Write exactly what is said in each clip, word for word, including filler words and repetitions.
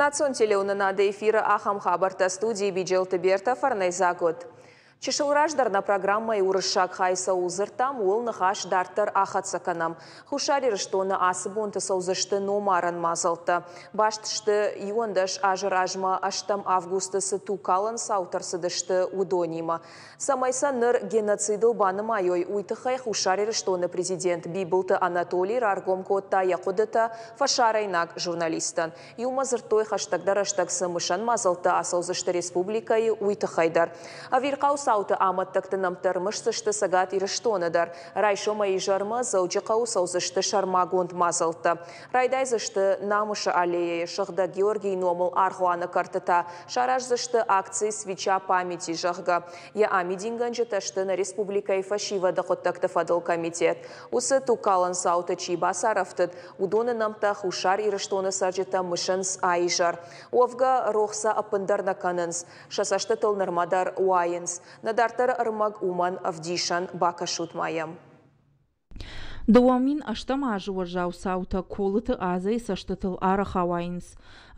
Национ телеуынынады эфиры ахӕм хабӕрттӕ, студийы Биджелты Берта, фӕрнӕйдзаг ут. Чысыл раздӕр нӕ программӕйы уырыссаг хай цӕуыл дзырдтам, ууыл ныхас дарддӕр ахӕццӕ кӕнӕм. Хуссар Ирыстоны ацы бонты цӕудзысты номарӕн мадзӕлттӕ. Баст сты, иуӕндӕс азы размӕ ӕстӕм августы цы тугкалӕн цаутӕ рцыдысты, уыдонимӕ. Цӕмӕй сӕ ныр геноцидыл банымайой, уый тыххӕй Хуссар Ирыстоны президент Бибылты Анатолий раргом кодта йӕ хъуыдытӕ фӕсарӕйнаг журналисттӕн. Иумӕ дзырдтой, хӕстӕгдӕр рӕстӕг цы мысӕн мадзӕлттӕ ацӕудзысты республикӕйы, уый тыххӕй дӕр. Ӕвирхъау цауты амӕттӕгты нӕмттӕ ӕрымысдзысты Цӕгат Ирыстоны дӕр. Райсомӕй изӕрмӕ Дзӕуджыхъӕуы цӕудзысты сӕрмагонд мадзӕлттӕ. Райдайдзысты Намысы аллеяйы, Сыгъдӕг Георгийы номыл аргъуаны кӕрты та сараздзысты акци «Свеча памяти», зӕгъгӕ. Йӕ амидингӕнджытӕ сты нӕ республикӕйы фӕсивӕды хъуыддӕгты фӕдыл комитет. Уыцы тугкалӕн цауты чи бацарӕфтыд, уыдоны нӕмттӕ Хуссар Ирыстоны цӕрджытӕ мысынц а-изӕр. Уӕвгӕ, рох сӕ ӕппындӕр нӕ кӕнынц. Сӕ цӕстытыл нырмӕ дӕр уайынц. Нӕ дарддӕры ӕрмӕг уымӕн ӕвдисӕн, бакӕсут ма йӕм. Дыууӕ мин ӕстӕм азы уӕззау цаутӕ Колыты Азӕйы цӕстытыл арӕх ауайынц.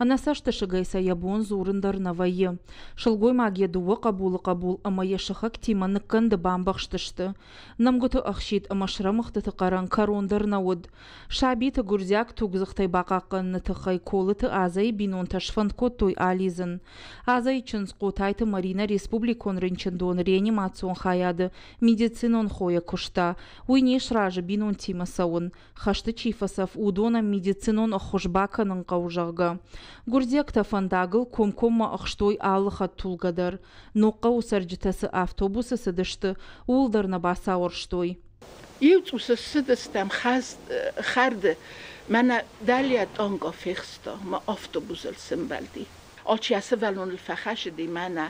Ӕнӕ цӕстысыгӕй сӕ йӕ бон дзурын дӕр нӕ вӕййы. Сылгоймаг йӕ дыууӕ хъӕбулы хъӕбул ӕмӕ йӕ сыхӕгтимӕ ныккӕнды бамбӕхстысты. Нӕмгуыты ӕхсид ӕмӕ срӕмыгъдтыты хъӕрӕн кӕрон дӕр нӕ уыд. Сабиты гуырдзиаг тугдзыхтӕй бахъахъхъӕныны тыххӕй Колыты Азӕйы бинонтӕ сфӕнд кодтой алидзын. Азӕйы чындз Хъотайты Маринӕ республикон рынчындоны реанимацион хайады медицинон хойӕ куыста. Уый не сразы бинонтимӕ цӕуын. Хӕсты чи фӕцӕф, уыдонӕн медицинон ӕххуыс бакӕнын хъӕуы, зӕгъгӕ. Гуырдзиӕгтӕ фӕндагыл комкоммӕ ӕхстой алы хӕдтулгӕ дӕр. Ногхъӕуы цӕрджытӕ цы автобусы цыдысты, ууыл дӕр нӕ бацауӕрстой. Иу цъус ссыдыстӕм хӕрды, мӕнӕ дӕлейӕ танкӕ фехста, мӕ автобусыл сӕмбӕлди. Алчи йӕ сывӕллоныл фӕхӕцыди, мӕнӕ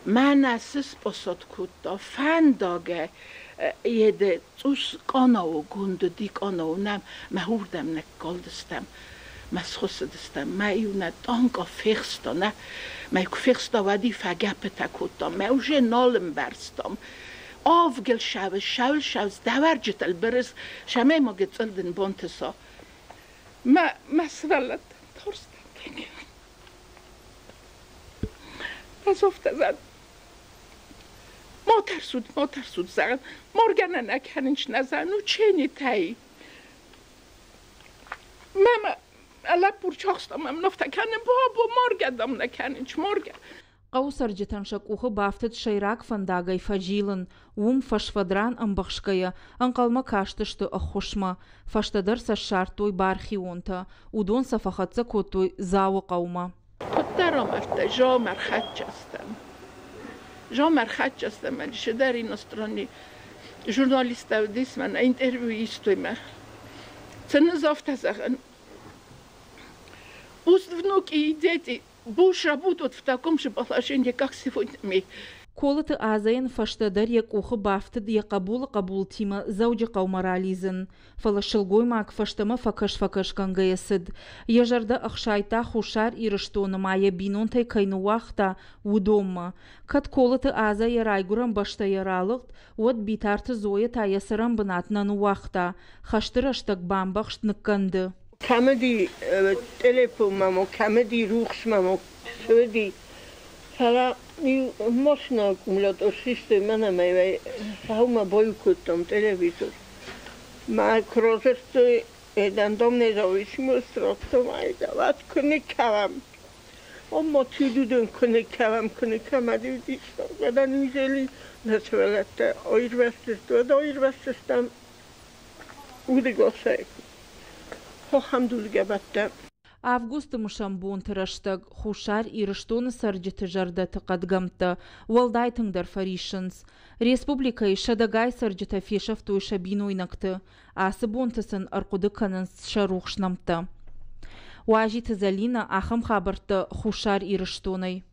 мӕнӕ цы спосад кодта, фӕндагӕй еде цъус къанаугонд уыди, къанау нӕм, мӕ уырдӕм ныккалдыстӕм, мӕ схуыссыдыстӕм, мӕ иу нӕ танкӕ фехста, нӕ, мӕ куы фехста, уӕд фӕгӕппытӕ кодтам, мӕ уже нал ӕмбӕрстам. Авгыл шавыз, шавыл шавыз, дӕвӕрджытыл бырыз, шамӕй ма гыццыл дын бантыса. Мӕ, мӕ сывӕллӕттӕн тарстӕн тынг. Ӕз афтӕ зӕгъын, ма тӕрсут, ма тӕрсут, зӕгъын, маргӕ нӕ нӕ кӕнынч нӕ зӕгъын, ученитӕй. Мӕ лӕппу рчахста, мӕм афтӕ кӕны, бабо, маргӕ дам нӕ кӕнынч, маргӕ. Хъӕуы цӕрджытӕн сӕ къухы бафтыд сӕйраг фӕндагӕй фӕзилын. Уым фӕсфӕдран ӕмбӕхсгӕйӕ ӕнхъӕлмӕ кастысты ӕххуысмӕ. Фӕстӕдӕр сӕ ссардтой бархионтӕ. Уыдон сӕ фӕхӕццӕ кодтой Дзауы хъӕумӕ. Куыддӕр амардта, Жамар хӕццӕстӕм. Жамар хӕццӕстӕм, седер иностранный журналисттӕ уыдис, мӕнӕ интервью истой мӕ. Цӕныз афтӕ зӕгъын, пусть внуки и дети больше будут в таком же положении, как сегодня мы. Колыты Азӕйӕн фӕстӕдӕр йӕ къухы бафтыд йӕ хъӕбулы хъӕбултимӕ Дзӕуджыхъӕумӕ ралидзын. Фӕлӕ сылгоймаг фӕстӕмӕ фӕкӕс-фӕкӕсгӕнгӕйӕ цыд. Йӕ зӕрдӕ ӕхсайдта, Хуссар Ирыстоны ма йӕ бинонтӕй кӕй ныууагъта, уыдонмӕ. Кӕд Колыты Азӕ йӕ райгуырӕн бӕстӕйӕ ралыгъд, уӕд Битарты Зоя та йӕ цӕрӕн бынат нӕ ныууагъта. Хӕсты рӕстӕг бамбӕхст ныккӕнды. Кӕмӕди телефон мамо, кӕмӕди рухс мамо, цыди. Фӕлӕ машина аккумулятор систой мӕнӕ сӕумӕ баиу кодтам телевизор. Мӕ куы радзырдтой, дам независимость радтам, ай куы никӕвӕм. Амма түйдүдөн куы никӕвӕм, куы никӕмӕди уыдис, нӕ сывӕллӕттӕ аирвӕзтысты, уӕд аирвӕзтыстӕм удӕгасӕй. Ахӕм дудгӕ бӕттӕ. Августы мысӕн бонты рӕстӕг Хуссар Ирыстоны цӕрджыты зӕрдӕты хъӕдгӕмттӕ уӕлдай тынгдӕр фӕриссынц. Республикӕйы сӕдӕгай цӕрджытӕ фесӕфтой сӕ бинойнӕгты. Ацы бонты сын ӕрхъуыды кӕнынц сӕ рухс нӕмттӕ. Уазиты Зӕлинӕ, ахӕм хабӕрттӕ Хуссар Ирыстонӕй.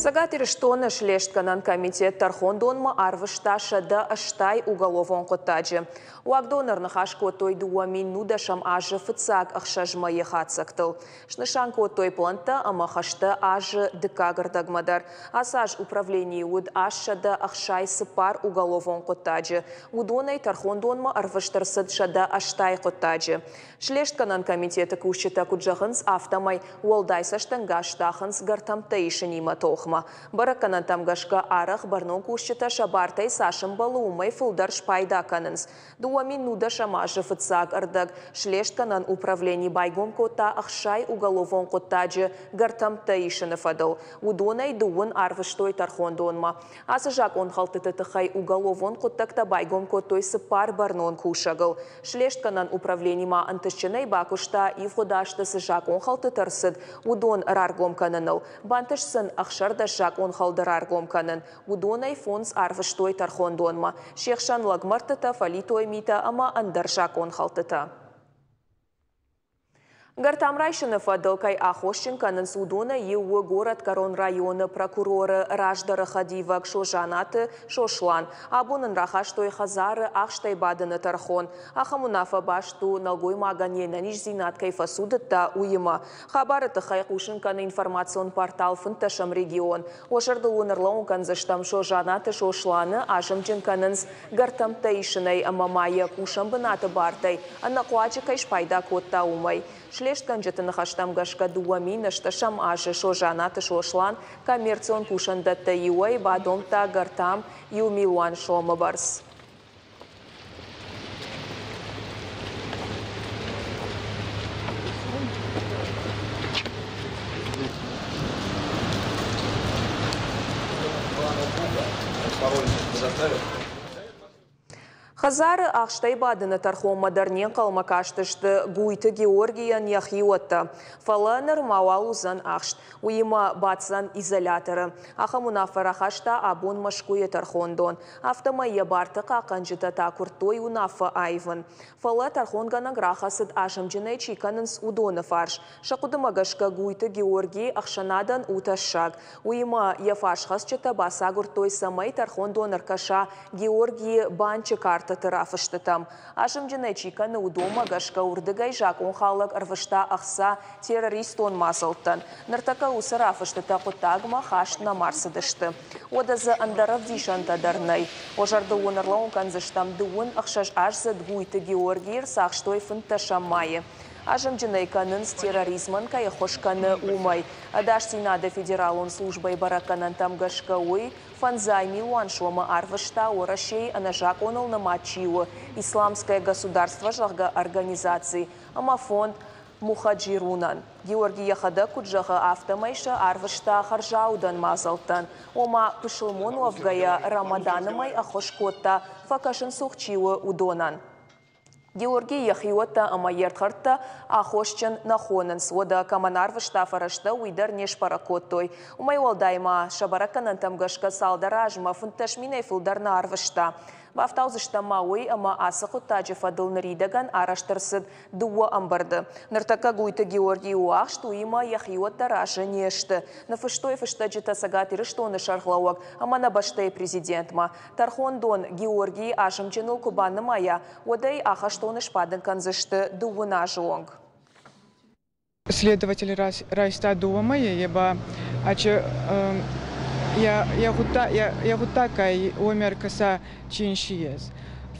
Цӕгат Ирыстоны слестгӕнӕн комитет тӕрхондонмӕ арвыста сӕдӕ ӕстай уголовон хъуыддаджы. Уагдоны ӕрныхас кодтой дыууӕ мин нудӕсӕм азы фыццаг ӕхсӕз мӕйы хатдзӕгтыл. Снысан кодтой плӕнттӕ ӕмӕ хӕстӕ азы дыккаг ӕрдӕгмӕ дӕр. Ацы аз управленийы уыд аст сӕдӕ ӕхсай цыппар уголовон хъуыддаджы. Уыдонӕй тӕрхондонмӕ ӕрвыст ӕрцыд сӕдӕ ӕстай хъуыддаджы. Слестгӕнӕн комитеты кусджытӕ куыд зӕгъынц, афтӕмӕй уӕлдай цӕстӕнгас здахынц гӕртӕмттӕ исынимӕ тохмӕ. Бӕрӕггӕнӕнтӕм гӕсгӕ арӕх бӕрнон кусджытӕ сӕ бартӕй цас ӕмбӕлы, уымӕй фылдӕр спайда кӕнынц. Дыууӕ мин нудӕсӕм азы фыццаг ӕрдӕг слестгӕнӕн управлени байгом кодта ӕхсай уголовон хъуыддаджы гӕртӕмттӕ исыны фӕдыл. Уыдонӕй дыууын арвыстой тӕрхондонмӕ. Ацы закъонхӕлдтыты тыххӕй уголовон хъуыддӕгтӕ байгом кодтой цыппар бӕрнон кусӕгыл. Слестгӕнӕн управлени ма ӕнтыстджынӕй бакуыста ивгъуыд азты цы закъонхӕлдтытӕ ӕрцыд, уыдон раргом кӕныныл. Бантыст сын ӕхсӕрдӕс закъонхӕлды раргом кӕнын. Уыдонӕй фондз арвыстой тӕрхондонмӕ. Се хсӕн лӕгмӕрдтытӕ, фӕлитой митӕ ӕмӕ ӕндӕр закъонхӕлдтытӕ. Гӕртам райсыны фӕдыл кӕй аххосджын кӕнынц, уыдонӕй иу у Горӕтгӕрон районы прокуроры раздӕры хӕдивӕг Созанаты Сослан. Абон ын рахастой хӕдзары ахстӕй бадыны тӕрхон. Ахӕм уынаффӕ баст у, нӕлгоймагӕн йе нӕниздзинад кӕй фӕцудыдта, уыимӕ. Хабары тыххӕй хъусын кӕны информацион портал фынддӕсӕм регион. Уӕ зӕрдыл уын ӕрлӕууын кӕндзыстӕм, Созанаты Сосланы азымджын кӕнынц гӕртӕмттӕ исынӕй ӕмӕ ма йӕ кусӕн бынаты бартӕй ӕнӕхъуаджы кӕй спайда кодта, уымӕй. Слестгӕнджыты ныхӕстӕм гӕсгӕ дыууӕ мин ӕстдӕсӕм азы Созанаты Сослан коммерцион кусӕндӕттӕй иуӕй бадомдта гӕртам иу милуан сомы бӕрц. Хӕдзары ахстӕй бадыны тӕрхонмӕ дӕр не нхъӕлмӕ кастысты Гуйты Георгийӕн йӕхиуӕттӕ. Фӕлӕ нырма уал уыдзӕн ахст. Уыимӕ баддзӕн изоляторы. Ахӕм уынаффӕ рахаста абон Мӕскуыйы тӕрхондон. Афтӕмӕй йӕ барты хъахъхъӕнджытӕ та куырдтой уынаффӕ аивын. Фӕлӕ тӕрхонгӕнӕг рахӕцыд, азымджынӕй чи кӕнынц, уыдоны фарс. Сӕ хъуыдымӕ гӕсгӕ Гуйты Георгий ӕхсӕнадӕн у тӕссаг. Уыимӕ йӕ фарсхӕцджытӕ бацагуырдтой, цӕмӕй тӕрхондон ӕркӕса Георгийы банчы картӕты рафыстытӕм. Азымджынӕй чи кӕны, уыдонмӕ гӕсгӕ уырдыгӕй закъонхалӕг ӕрвыста ӕхца террористон мадзӕлттӕн. Ныртӕккӕ уыцы рафыстытӕ хъуыддагмӕ хаст нӕма рцыдысты. Уӕдӕ дзы ӕндӕр ӕвдисӕнтӕ дӕр нӕй. Уӕ зӕрдыл уын ӕрлӕууын кӕндзыстӕм, дыууын ӕхсӕз аздзыд Гуйты Георгийы ӕрцахстой фынддӕсӕм майы. Азымджынӕй кӕнынц, терроризмӕн кӕй ӕххуыс кӕны, уымӕй. Ӕдасдзинады федералон службӕйы бӕрӕггӕнӕнтӕм гӕсгӕ уый фӕндзай милуан сомы арвыста Уӕрӕсейы ӕнӕзакъоныл нымад чи у, Исламское государство, зӕгъгӕ, организаци ӕмӕ фонд Мухаджирунӕн. Георгий йӕхӕдӕг куыд зӕгъы, афтӕмӕй сӕ арвыста хӕрзаудӕн мадзӕлттӕн. Ома, пысылмон уӕвгӕйӕ Рамаданы мӕй ӕххуыс кодта, фӕкӕсынцух чи у, уыдонӕн. Георгий йӕхиуӕттӕ ӕмӕ йе рдхӕрдтӕ аххосджын нӕ хонынц. Уӕдӕ кӕмӕн арвыста фӕрӕзтӕ, уый дӕр не сбӕрӕг кодтой. Уымӕй уӕлдай ма сӕ бӕрӕггӕнӕнтӕм гӕсгӕ цалдӕр азмӕ фынддӕс минӕй фылдӕр нӕ арвыста. Бафтаудзыстӕм ма уый, ӕмӕ ацы хъуыддаджы фӕдыл ныридӕгӕн арӕзт ӕрцыд дыууӕ ӕмбырды. Ныртӕккӕ Гуйты Георгий у ахст, уыимӕ йӕхиуӕттӕ разы не сты. Ныффыстой фыстӕджытӕ Цӕгат Ирыстоны сӕргълӕууӕг ӕмӕ нӕ бӕстӕйы президентмӕ. Тӕрхондон Георгийы азымджыныл куы банымайа, уӕд ӕй ахӕстоны сбадын кӕндзысты дыууын азы онг. Следователь райста дыууӕ мӕйы, е ба ачы йӕ гъуддагӕй уоми ӕркӕса чи ес.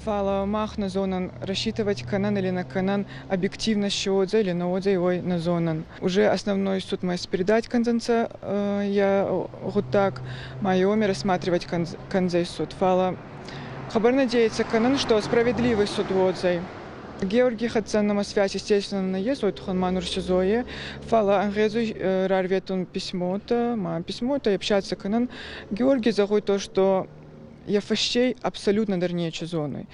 Фал мах нӕ зонӕн, рассчитывать кӕнӕн или нӕ кӕнӕн, объективно ше уодзӕй или нӕ уодзӕй, уой нӕ зонӕн. Уже основной суд ма передать кӕндзӕнцӕ йӕ гъуддаг, ма уоми рассматривать кӕндзӕй суд. Фал хъӕбӕр надеяться кӕнӕн, что справедливый суд уодзӕй. Георгий хӕццӕ нӕмӕ связь, естественно, нӕ ес, уой туххӕн ма нур СИЗО-йи, фал ӕнгъезуй рарветун письмотӕ, ма письмотӕ общаться кӕнӕн. Георгий зӕгъуй то, что йӕ фӕстей абсолютно дӕр нечи зонуй.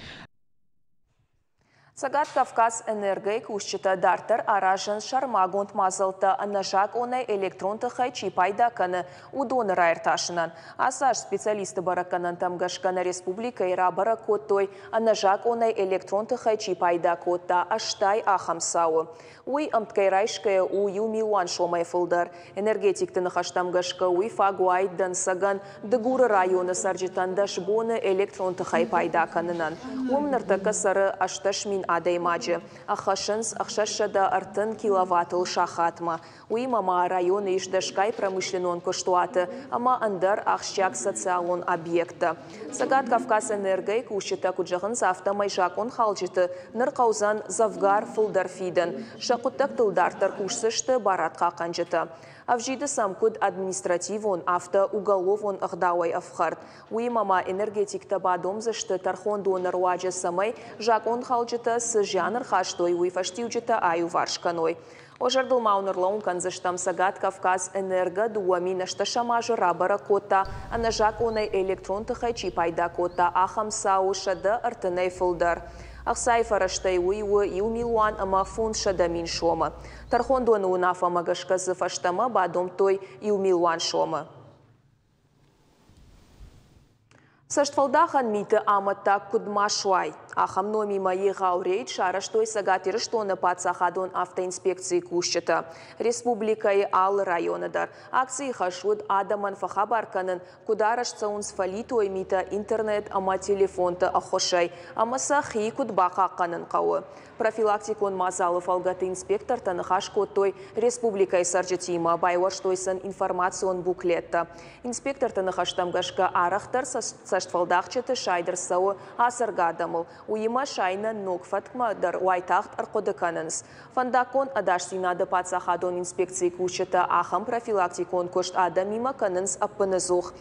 Цӕгат Кавказ Энергойы кусджытӕ дарддӕр аразынц сӕрмагонд мадзӕлттӕ ӕнӕзакъонӕй электрон тыхӕй чи пайда кӕны, уыдоны раиртасынӕн. Ацы аз специалистты бӕрӕггӕнӕнтӕм гӕсгӕ нӕ республикӕйы рабӕрӕг кодтой, ӕнӕзакъонӕй электрон тыхӕй чи пайда кодта, ӕстай ахӕм цауы. Уый ӕмткӕй райсгӕйӕ у иу милуан сомӕй фылдӕр. Энергетикты ныхӕстӕм гӕсгӕ уый фаг уаид дӕнцӕгӕн Дыгуры районы цӕрджытӕн дӕс боны электрон тыхӕй пайда кӕнынӕн. Уым ныртӕккӕ цӕры ӕстдӕс мин адӕймаджы. Ӕххӕссынц ӕхсӕзсӕдӕ ӕртын киловаттыл сахатмӕ. Уыимӕ ма районы ис дӕсгай промышленнон куыстуаты ӕмӕ ӕндӕр ахсджиаг социалон объекттӕ. Цӕгат Кавказ Энергойы кусджытӕ куыд зӕгъынц, афтӕмӕй закъонхалджыты ныр хъӕудзӕн дзӕвгар фылдӕр фидын. Сӕ хъуыддӕгтыл дарддӕр кусдзысты барадхъахъхъӕнджытӕ. Ӕвзиды сӕм куыд административон, афтӕ уголовон ӕгъдауӕй ӕфхӕрд. Уыимӕ ма энергетиктӕ бадомдзысты тӕрхондоны руаджы, цӕмӕй закъонхалджытӕ цы зиан ӕрхастой, уый фӕстиуджытӕ аиуварс кӕной. Уӕ зӕрдыл ма уын ӕрлӕууын кӕндзыстӕм, Цӕгат Кавказ Энерго дыууӕ мин ӕстдӕсӕм азы рабӕрӕг кодта, ӕнӕзакъонӕй электрон тыхӕй чи пайда кодта, ахӕм цауы сӕдӕ ӕртынӕй фылдӕр. Ӕхцайы фӕрӕзтӕй уый у иу милуан ӕмӕ фондзсӕдӕ мин сомы. Тӕрхондоны уынаффӕмӕ гӕсгӕ дзы фӕстӕмӕ бадомдтой иу милуан сомы. Цӕстфӕлдахӕн миты амӕттаг куыд ма суай, ахӕм номимӕ егъау рейд сарӕзтой Цӕгат Ирыстоны паддзахадон автоинспекцийы кусджытӕ республикӕйы алы районы дӕр. Акцийы хӕс уыд адӕмӕн фӕхабар кӕнын, куыд арӕзт цӕуынц фӕлитой митӕ интернет ӕмӕ телефонты ӕххуысӕй ӕмӕ сӕ хи куыд бахъахъхъӕнын хъӕуы. Профилактикон мадзалы фӕлгӕты инспектортӕ ныхас кодтой республикӕйы цӕрджытимӕ, байуӕрстой сын информацион буклеттӕ. Инспекторты ныхӕстӕм гӕсгӕ арӕхдӕр цӕстфӕлдахджыты сайд ӕрцӕуы ацӕргӕ адӕмыл. Уыимӕ сайынӕн ног фӕткмӕ дӕр уайтагъд ӕрхъуыды кӕнынц. Фӕндаггон ӕдасдзинады паддзахадон инспекцийы кусджытӕ ахӕм профилактикон куыст адӕмимӕ кӕнынц ӕппынӕдзух.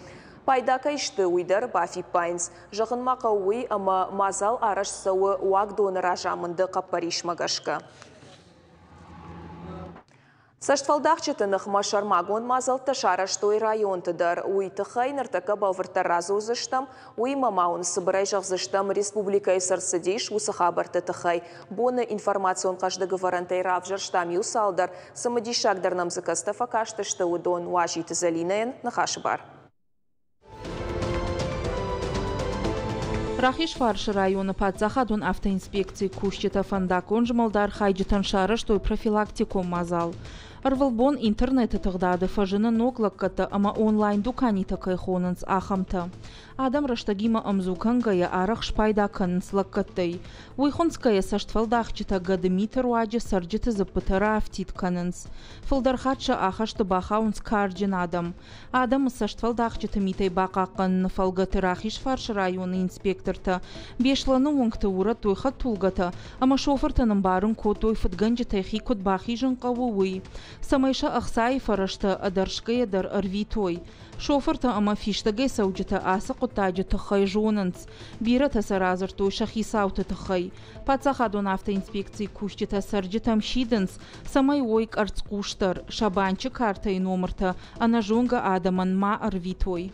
Пайда кӕй сты, уый дӕр бафиппайынц. Зӕгъын ма хъӕуы уый, ӕмӕ мадзал арӕзт цӕуы уагдоны разамынды хъӕппӕрисмӕ гӕсгӕ. Цӕстфӕлдахджыты ныхмӕ сӕрмагонд мадзӕлттӕ сарӕзтой районты дӕр. Уый тыххӕй ныртӕккӕ бӕлвырддӕр радзурдзыстӕм. Уыимӕ ма уын цыбырӕй зӕгъдзыстӕм, республикӕйы цы рцыдис, уыцы хабӕртты тыххӕй. Боны информацион хъӕздыг ӕвӕрӕнтӕй равзӕрстам иу цалдӕр. Цымыдисагдӕр нӕм дзы кӕцытӕ фӕкастысты, уыдон Уазиты Зӕлинӕйӕн ныхасы бар. Рахизфарсы районы паддзахадон автоинспекцийы кусджытӕ фӕндаггон змӕлды архайджытӕн сарӕзтой профилактикон мадзал. Ӕрвылбон интернеты тыгъдады фӕзыны ног лӕггӕдтӕ ӕмӕ онлайн-дуканитӕ кӕй хонынц, ахӕмтӕ. Адӕм рӕстӕгимӕ ӕмдзу кӕнгӕйӕ арӕх спайда кӕнынц лӕггӕдтӕй. Уый хынцгӕйӕ цӕстфӕлдахджытӕ гӕдымиты руаджы цӕрджыты дзыппытӕ раафтид кӕнынц. Фылдӕр хатт сӕ ахӕсты бахауынц карджын адӕм. Адӕмы цӕстфӕлдахджыты митӕй бахъахъхъӕныны фӕлгӕты Рахизфарсы районы инспектортӕ Беслӕны уынгты урӕдтой хӕдтулгӕтӕ ӕмӕ шофыртӕн ӕмбарын кодтой, фыдгӕнджытӕй хи куыд бахизын хъӕуы, уый, цӕмӕй сӕ ӕхцайы фӕрӕзтӕ ӕдӕрсгӕйӕ дӕр ӕрвитой. Шофыртӕ ӕмӕ фистӕгӕй цӕуджытӕ ацы хъуыддаджы тыххӕй зонынц. Бирӕтӕ сӕ радзырдтой сӕ хицауты тыххӕй. Паддзахадон автоинспекцийы кусджытӕ цӕрджытӕм сидынц, цӕмӕй уой къӕрцхъусдӕр, сӕ банчы картӕйы номыртӕ ӕнӕзонгӕ адӕмӕн ма ӕрвитой.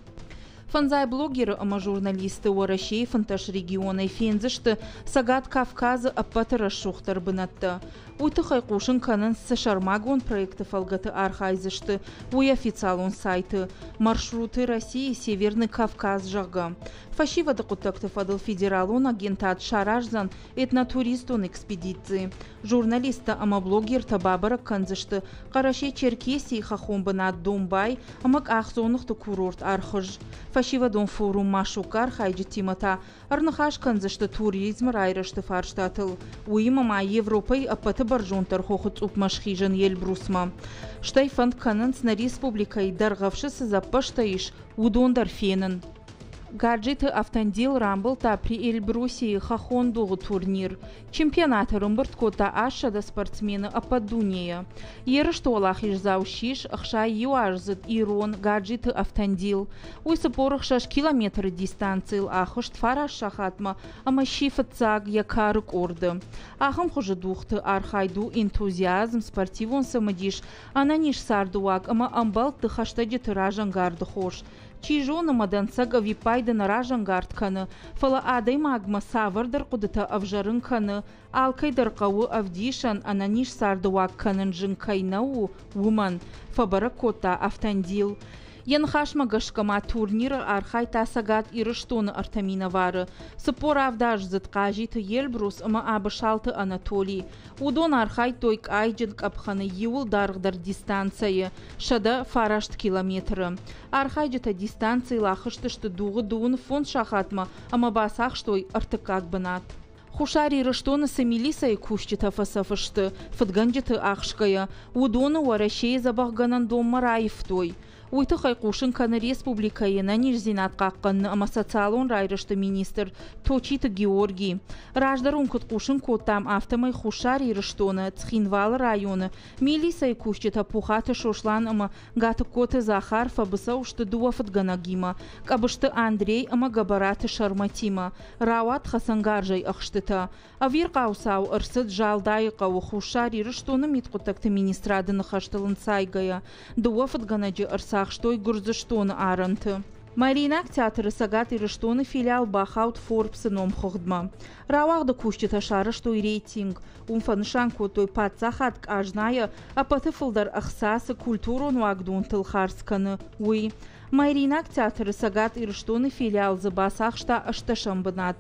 Фӕндзай блогеры ӕмӕ журналисты Уӕрӕсейы фынтӕс регионӕй фендзысты Цӕгат Кавказы ӕппӕты рӕсугъддӕр бынӕттӕ. Уый тыххӕй хъусын кӕнынц, цы сӕрмагонд проекты фӕлгӕты архайдзысты, уый официалон сайты «Маршруты России Северный Кавказ», зӕгъгӕ. Фӕсивӕды хъуыддӕгты фӕдыл федералон агентад сараздзӕн этнотуристон экспедици. Журналисттӕ ӕмӕ блогертӕ бабӕрӕг кӕндзысты Хъӕрӕсе-Черкесийы хӕххон бынат Домбай ӕмӕ къахдзоныгъты курорт Архыз. Фӕсивӕдон форум Машук-ы архайджытимӕ та ӕрныхас кӕндзысты туризмы райрӕзты фарстатыл. Уыимӕ ма Европӕйы ӕппӕты бӕрзонддӕр хохы цъупмӕ схизын Эльбрусмӕ. Стӕй фӕнд кӕнынц нӕ республикӕйы Дӕргъӕвсы цы дзӕппӕзтӕ ис, уыдон дӕр фенын. Гаджиты Автандил рамбылдта Приэльбрусийы хӕххон дугъы турнир. Чемпионаты ӕрӕмбырд кодта ӕссӕдӕ спортсмены ӕппӕт дунейӕ. Ерысты уӕлахиздзау ссис ӕхсай иу аздзыд ирон Гаджиты Автандил. Уый цыппор ӕхсӕз километры дистанцийыл ахызт фараст сахатмӕ ӕмӕ сси фыццаг йӕ кары къорды. Ахӕм хуызы дугъты архайд у энтузиазм, спортивон цымыдис, ӕнӕниз цардыуаг ӕмӕ ӕмбӕлтты хӕстӕджыты разӕнгарды хос. Чи зоны мӕ дӕнцӕг ӕвиппайды нӕ разӕнгард кӕны, фӕлӕ адӕймагмӕ цавӕрдӕр хъуыдытӕ ӕвзӕрын кӕны, алкӕй дӕр хъӕуы ӕвдисӕн ӕнӕниз цардыуаг кӕнын зын кӕй нӕ у, уымӕн, фӕбӕрӕг кодта Автандил. Йӕ ныхасмӕ гӕсгӕ ма турниры архайдта Цӕгат Ирыстоны ӕртӕ минӕвары, цыппор авдаздзыд Хъазиты Елбрус ӕмӕ Абысалты Анатолий. Уыдон архайдтой къайджын къӕпхӕны иуыл даргъдӕр дистанцӕйы сӕдӕ фараст километры. Архайджытӕ дистанцийыл ахызтысты дугъы дыууын фондз сахатмӕ ӕмӕ бацахстой ӕртыккаг бынат. Хуссар Ирыстоны цы милицӕйы кусджытӕ фӕцӕф сты, фыдгӕнджыты ахсгӕйӕ, уыдоны Уӕрӕсейы дзӕбӕхгӕнӕн донмӕ раивтой. Уый тыххӕй хъусын кӕны республикӕйы ӕнӕниздзинад хъахъхъӕныны ӕмӕ социалон райрӕзты министр Точиты Георгий. Раздӕр уын куыд хъусын кодтам, афтӕмӕй Хуссар Ирыстоны Цхинвалы районы милицӕйы кусджытӕ Пухаты Сослан ӕмӕ Гатыгкоты Захар фӕбыцӕу сты дыууӕ фыдгӕнӕгимӕ, Къӕбысты Андрей ӕмӕ Гӕбӕраты Сӕрмӕтимӕ. Рауад хӕцӕнгарзӕй ӕхстытӕ. Ӕвирхъау цау ӕрцыд Залдайы хъӕуы Хуссар Ирыстоны мидхъуыддӕгты министрады ныхӕстыл ӕнцайгӕйӕ. Дыууӕ фыдгӕнӕджы ӕрцахстой Гуырдзыстоны арӕнты. Мариинаг театры Цӕгат Ирыстоны филиал бахауд Форбсы номхыгъдмӕ. Рауагъды кусджытӕ сарӕзтой рейтинг. Уым фӕнысан кодтой паддзахад къазнайӕ ӕппӕты фылдӕр ӕхца цы культурон уагдонтыл хардз кӕны, уый. Мариинаг театры Цӕгат Ирыстоны филиал дзы бацахста ӕстдӕсӕм бынат.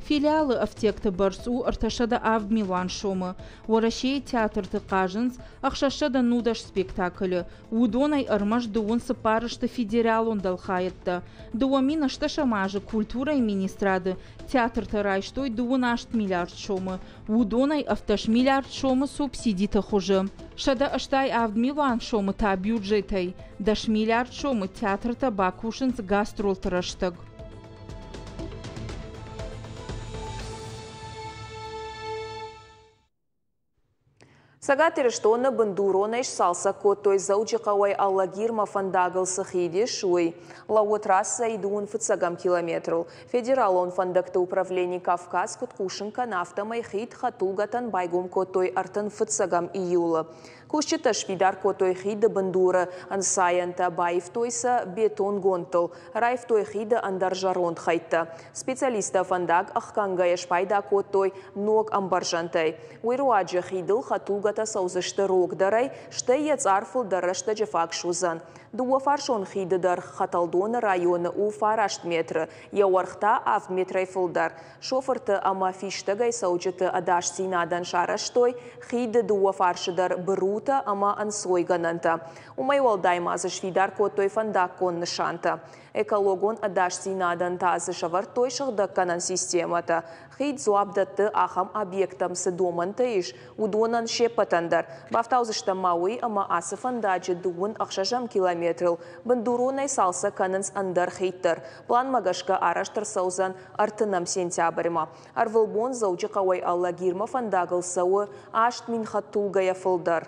Филиалы ӕфтиӕгты бӕрц у ӕртӕсӕдӕ авд милуан сомы. Уӕрӕсейы театрты хъазынц ӕхсӕзсӕдӕ нудӕс спектаклы. Уыдонӕй ӕрмӕст дыууын цыппар сты федералон дӕлхайӕдтӕ. Дыууӕ мин ӕстдӕсӕм азы культурӕйы министрады театртӕ райстой дыууын аст миллиард сомы. Уыдонӕй ӕвддӕс миллиард сомы субсидиты хуызы. Сӕдӕ ӕстай авд милуан сомы та бюджетӕй. Дӕс миллиард сомы театртӕ бакусынц гастролты рӕстӕг. Цӕгат Ирыстоны бындуронӕй сцалцӕг кодтой Дзӕуджыхъӕуӕй Алагирмӕ фӕндагыл цы хид ис, уый. Лӕууы трассӕйы дыууын фыццӕгӕм километрыл. Федералон фӕндӕгты управлени Кавказ куыд хъусын кӕны, афтӕмӕй хид хӕдтулгӕтӕн байгом кодтой ӕртын фыццӕгӕм июлы. Кусджытӕ сфидар кодтой хиды бындуры ӕнцайӕнтӕ, баивтой сӕ бетонгондтыл, раивтой хиды ӕндӕр зӕронд хӕйттӕ. Специалисттӕ фӕндаг ӕхгӕнгӕйӕ спайда кодтой ног ӕмбӕрзӕнтӕй. Уый руаджы хидыл хӕдтулгӕтӕ цӕудзысты рогдӕрӕй, стӕй йӕ цъар фылдӕр рӕстӕджы фаг суыдзӕн. Дыууӕфарсон хиды дӕр Хӕтӕлдоны районы у фараст метры, йӕ уӕрх та авд метрӕй фылдӕр. Шофырты ӕмӕ фистӕгӕй цӕуджыты ӕдасдзинадӕн сарӕзтой хиды дыууӕ фарсы дӕр бырутӕ ӕмӕ ӕнцойгӕнӕнтӕ. Уымӕй уӕлдай ма дзы сфидар кодтой фӕндаггон нысантӕ. Экологон ӕдасдзинадӕн та дзы сӕвӕрдтой сыгъдӕггӕнӕн системӕтӕ. Хид дзуапп дӕтты ахӕм объекттӕм цы домӕнтӕ ис, уыдонӕн се ппӕтӕн дӕр. Бафтаудзыстӕм ма уый, ӕмӕ ацы фӕндаджы дыууын ӕхсӕзӕм километрыл бындуронӕй цалцӕг кӕнынц ӕндӕр хид дӕр. Планмӕ гӕсгӕ арӕзт ӕрцӕудзӕн ӕртынӕм сентябрьмӕ. Ӕрвылбон Дзӕуджыхъӕуӕй Алагирмӕ фӕндагыл цӕуы аст мин хӕдтулгӕйӕ фылдӕр.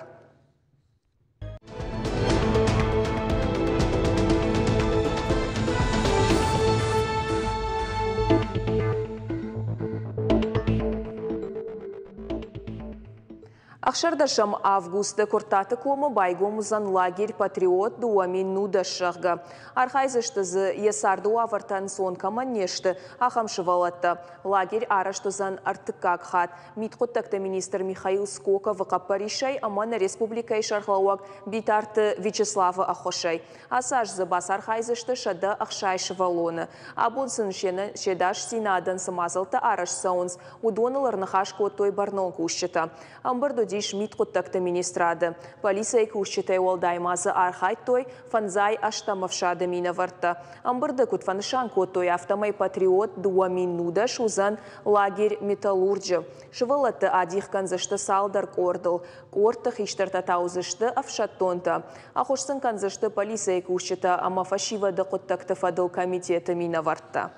Ӕхсӕрдӕсӕм августы Куырттаты комы байгом уыдзӕн лагерь «Патриот» дыууӕ мин нудӕс, зӕгъгӕ. Архайдзысты дзы, йӕ царды уавӕртӕ ӕнцон кӕмӕн не сты, ахӕм сывӕллӕттӕ. Лагерь арӕзт уыдзӕн ӕртыккаг хатт. Мидхъуыддӕгты министр Михаил Скоковы хъӕппӕрисӕй ӕмӕ нӕ республикӕйы сӕргълӕууӕг Битарты Вячеславы ӕххуысӕй. Ацы аз дзы бацархайдзысты сӕдӕ ӕхсай сывӕллоны. Абон сын се дасдзинадӕн цы мадзӕлттӕ арӕзт цӕуынц, уыдоныл ӕрныхас кодтой бӕрнон кусджытӕ. Ӕмбырд уыдис мидхъуыддӕгты министрады. Полицӕйы кусджытӕй уӕлдай ма дзы архайдтой фӕндзай ӕстӕм ӕфсады минӕвӕрттӕ. Ӕмбырды куыд фӕнысан кодтой, афтӕмӕй «Патриот» дыууӕ мин нудӕс уыдзӕн лагерь «Металлурджы». Сывӕллӕтты адих кӕндзысты цалдӕр къордыл. Къордты хистӕртӕ та уыдзысты ӕфсӕддонтӕ. Ӕххуыс сын кӕндзысты полицӕйы кусджытӕ ӕмӕ фӕсивӕды хъуыддӕгты фӕдыл комитеты минӕвӕрттӕ.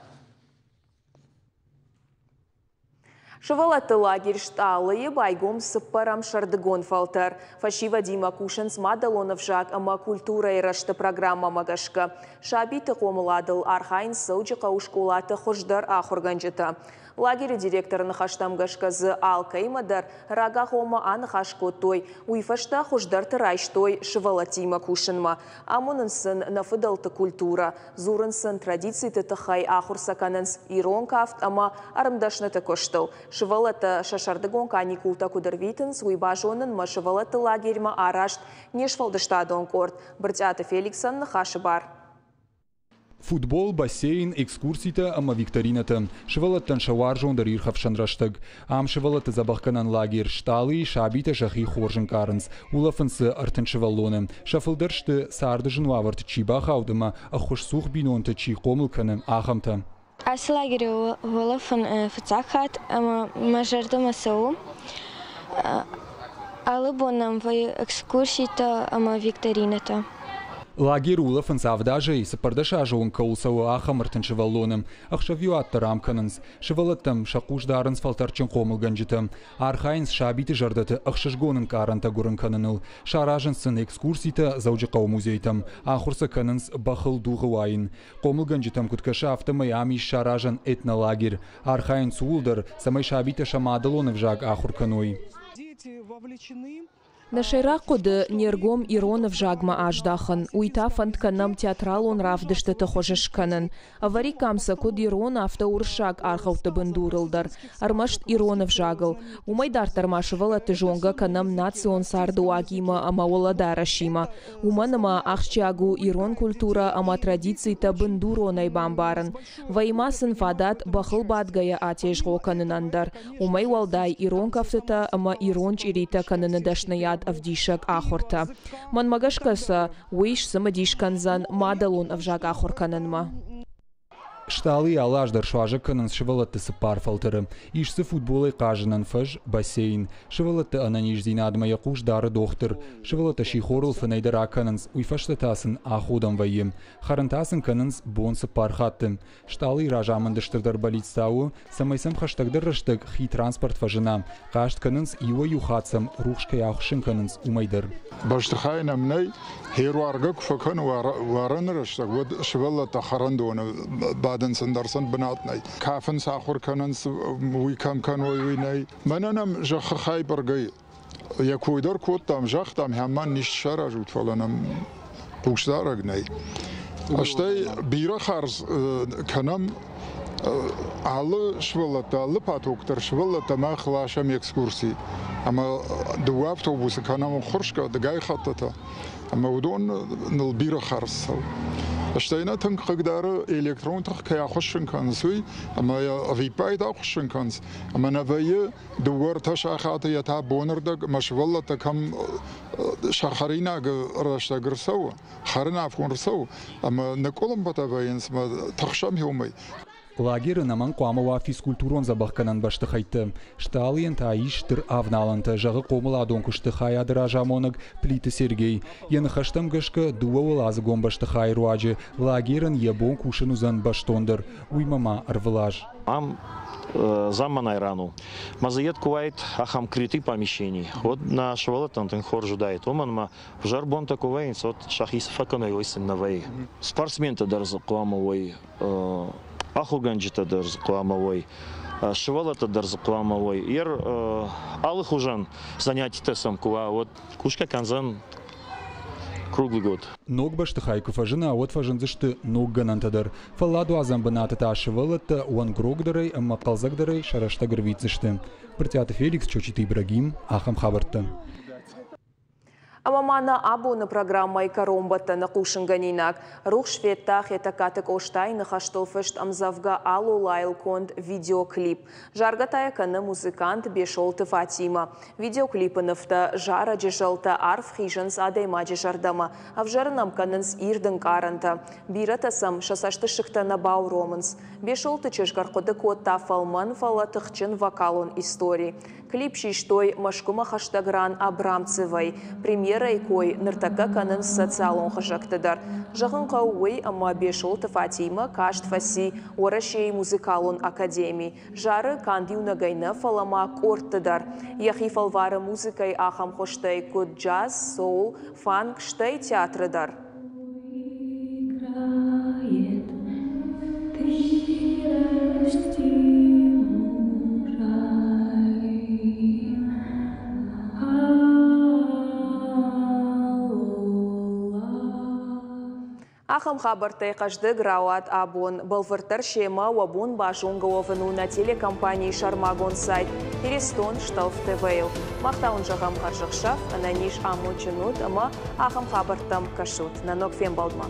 Сывӕллӕтты лагерь «Стъалы»-йы байгом цыппӕрӕм сӕрдыгон фӕлтӕр. Фӕсивӕдимӕ кусынц мадӕлон ӕвзаг ӕмӕ культурӕйы рӕзты программӕмӕ гӕсгӕ. Сабиты хъомыладыл архайынц Дзӕуджыхъӕуы скъолаты хуыздӕр ахуыргӕнджытӕ. Лагеры директоры ныхӕстӕм гӕсгӕ дзы алкӕимӕ дӕр рагагъоммӕ аныхас кодтой. Уый фӕстӕ хуыздӕрты райстой сывӕллӕттимӕ кусынмӕ. Амонынц сын нӕ фыдӕлты культурӕ, дзурынц сын традициты тыххӕй, ахуыр сӕ кӕнынц ирон кафт ӕмӕ ӕрмдӕсныты куыстыл. Сывӕллӕттӕ сӕ сӕрдыгон каникултӕ куыд ӕрвитынц, уый базонынмӕ сывӕллӕтты лагерьмӕ араст не сфӕлдыстадон къорд. Брытъиаты Феликсӕн ныхасы бар. Футбол, бассейн, экскурситӕ ӕмӕ викторинӕтӕ. Сывӕллӕттӕн сӕ уарзондӕр ирхӕфсӕн рӕстӕг. Ам сывӕллӕтты дзӕбӕхгӕнӕн лагерь «Стъалы»-йы сабитӕ сӕхи хорз ӕнкъарынц. Улӕфынц дзы ӕртын сывӕллоны. Сӕ фылдӕр сты, царды зын уавӕрты чи бахауд ӕмӕ ӕххуысцух бинонты чи хъомыл кӕны, ахӕмтӕ. Ацы лагеры улӕфын фыццаг хатт ӕмӕ мӕ зӕрдӕмӕ цӕуы. Алы бон нӕм вӕййы экскурситӕ ӕмӕ викторинӕтӕ. Лагеры улӕфынц авд азӕй цыппӕрдӕс азы онг кӕуыл цӕуы, ахӕм ӕртын сывӕллоны. Ӕхсӕвиуат дӕр ам кӕнынц. Сывӕллӕттӕм сӕ хъус дарынц фӕлтӕрдджын хъомылгӕнджытӕ. Архайынц сабиты зӕрдӕты ӕхсызгон ӕнкъарӕнтӕ гуырын кӕныныл. Саразынц сын экскурситӕ Дзӕуджыхъӕуы музейтӕм. Ахуыр сӕ кӕнынц бӕхыл дугъы уайын. Хъомылгӕнджытӕм куыд кӕсы, афтӕмӕй ам ис саразӕн этнолагерь. Архайынц ууыл дӕр, цӕмӕй сабитӕ сӕ мадӕлон ӕвзаг ахуыр кӕной. Нӕ сӕйраг хъуыды не ргом ирон ӕвзагмӕ аздахын, уый та фӕнд кӕнӕм театралон равдыстыты хуызы скӕнын. Ӕвӕриккам сӕ куыд ирон, афтӕ уырыссаг аргъӕутты бындурыл дӕр, ӕрмӕст ирон ӕвзагыл. Уымӕй дарддӕр ма сывӕллӕтты зонгӕ кӕнӕм национ цардыуагимӕ ӕмӕ уӕлӕдарӕсимӕ. Уымӕн ӕмӕ ахсджиаг у ирон культурӕ ӕмӕ традицитӕ бындуронӕй бамбарын. Вӕййы ма сын фадат бӕхыл бадгӕйӕ атезгъо кӕнынӕн дӕр. Уымӕй уӕлдай ирон кӕфтытӕ ӕмӕ ирон чъиритӕ кӕныны дӕсныйад ӕвдисӕг ахуыртӕ. Мӕнмӕ гӕсгӕ сӕ уый сцымыдис кӕндзӕн мадӕлон ӕвзаг ахуыр кӕнынмӕ. Стъалыйы алы аз дӕр суазӕг кӕнынц сывӕллӕтты цыппар фӕлтӕры. Ис дзы футболӕй хъазынӕн фӕз, бассейн. Сывӕллӕтты ӕнӕниздзинадмӕ йӕ хъус дары дохтыр. Сывӕллӕттӕ сихорыл фынӕй дӕр акӕнынц, уый фӕстӕ та сын аходӕн вӕййы. Хӕрын та сын кӕнынц бон цыппар хатты. Стъалыйы разамынды стырдӕр бӕллиц та у, цӕмӕй сӕм хӕстӕгдӕр рӕстӕг хи транспорт фӕзына. Хъаст кӕнынц, иуӕй-иу хатт сӕм рухс кӕй ахуыссын кӕнынц, уымӕй дӕр. Бӕстыхай нӕм нӕй, херуаргӕ куы фӕкӕны уарыны рӕстӕг, уӕд сывӕллӕттӕ хӕрӕндоны бадынц, ӕндӕр сын бынат нӕй. Кафынц, ахуыр кӕнынц, уый кӕм кӕной, уый нӕй. Мӕнӕ нӕм зӕххы хай бӕргӕ йӕ кой дӕр кодтам, загътам, хӕмӕн нист саразут, фӕлӕ нӕм хъусдарӕг нӕй. Стӕй бирӕ хардз кӕнӕм алы сывӕллӕттӕ, алы поток дӕр сывӕллӕттӕ мах ласӕм экскурси. Ӕмӕ дыууӕ автобусы кӕнӕм ӕххуырсгӕ дыгай хӕттытӕ. Ӕмӕ уыдон ныл бирӕ хардз цӕуы. Стӕй нӕ тынг хъыгдары электрон тых кӕй ахуыссын кӕнынц, уый, ӕмӕ йӕ ӕвиппайды ахуыссын кӕнынц. Ӕмӕ нӕ вӕййы дыууӕ-ӕртӕ сахаты йӕ та бонырдӕг ӕмӕ сывӕллӕттӕ кӕм сӕ хӕринагы рӕстӕг ӕрцӕуы, хӕрын афон ӕрцӕуы, ӕмӕ ныкъуылымпытӕ вӕййынц ӕмӕ тыхсӕм уымӕй. Лагеры нӕмӕн хъуамӕ уа физкультурон дзӕбӕхгӕнӕн бӕстыхӕйттӕ. Стъалыйӕн та ис стыр авналӕнтӕ, зӕгъы хъомыладон куысты хайады разамонӕг Плиты Сергей. Йӕ ныхӕстӕм гӕсгӕ дыууӕуӕладзыгон бӕстыхайы руаджы лагерӕн йӕ бон кусын уыдзӕн бӕстондӕр, уыимӕ ма ӕрвылаз. Ам замманай ран у. Ма дзы йед куы уаид ахӕм крытый помещений, уӕд нӕ сывӕллӕттӕн тынг хорз уыдаид. Уымӕн ӕмӕ ӕвзӕр бонтӕ куы вӕййынц, уӕд сӕхи цы фӕкӕной, уый сын нӕ вӕййы. Спортсментӕ дӕр дзы хъуамӕ уой, ахуыргӕнджытӕ дӕр дзы хъуамӕ уой, сывӕллӕттӕ дӕр дзы хъуамӕ уой. Ер алыхуызӕн занятитӕ сӕм куы уа, уӕд кусгӕ кӕндзӕн круглый год. Ног бӕстыхай куы фӕзына, уӕд фӕзындзысты ног гӕнӕнтӕ дӕр. Фӕлладуадзӕн бынаты та сывӕллӕттӕ уӕнгрогдӕрӕй ӕмӕ хъӕлдзӕгдӕрӕй сӕ рӕстӕг ӕрвитдзысты. Брытъиаты Феликс, Чочиты Ибрагим, ахӕм хабӕрттӕ. Ӕмӕ ма нӕ абоны программӕйы кӕронбӕттӕны хъусынгӕнинаг. Рухс федта Хетӕгкаты Къостайы ныхӕстыл фыст ӕмдзӕвгӕ «Алолайыл» конд видеоклип. Заргӕ та йӕ кӕны музыкант Бесолты Фатимӕ. Видеоклипы нывтӕ, зарӕджы зӕлтӕ арф хизынц адӕймаджы зӕрдӕмӕ. Ӕвзӕрын ӕм кӕнынц ирд ӕнкъарӕнтӕ. Бирӕтӕ сӕм сӕ цӕстысыгтӕ нӕ бауромынц. Бесолты чызг ӕрхъуыды кодта фӕлмӕн, фӕлӕ тыхджын вокалон истори. Клип систой Мӕскуымӕ хӕстӕг ран Абрамцевӕй. Премьерӕйы кой ныртӕккӕ кӕнынц социалон хызӕгты дӕр. Зӕгъын хъӕуы уый, ӕмӕ Бесолты Фатимӕ каст фӕци Уӕрӕсейы музыкалон академи. Зары канд иунӕгӕй нӕ, фӕлӕ ма къордты дӕр. Йӕхи фӕлвары музыкӕйы ахӕм хуызтӕй куыд джаз, соул, фанк, стӕй театры дӕр. Ахӕм хабӕрттӕй хъӕздыг рауад абон. Бӕлвырддӕр семӕ уӕ бон базонгӕ уӕвын у нӕ телекомпанийы сӕрмагонд сайт Иристон Шталф ТВ-йыл. Мах та уын зӕгъӕм хӕрзӕхсӕв, ӕнӕниз, амондджын ут ӕмӕ ахӕм хабӕрттӕм кӕсут. Нӕ ног фембӕлдмӕ.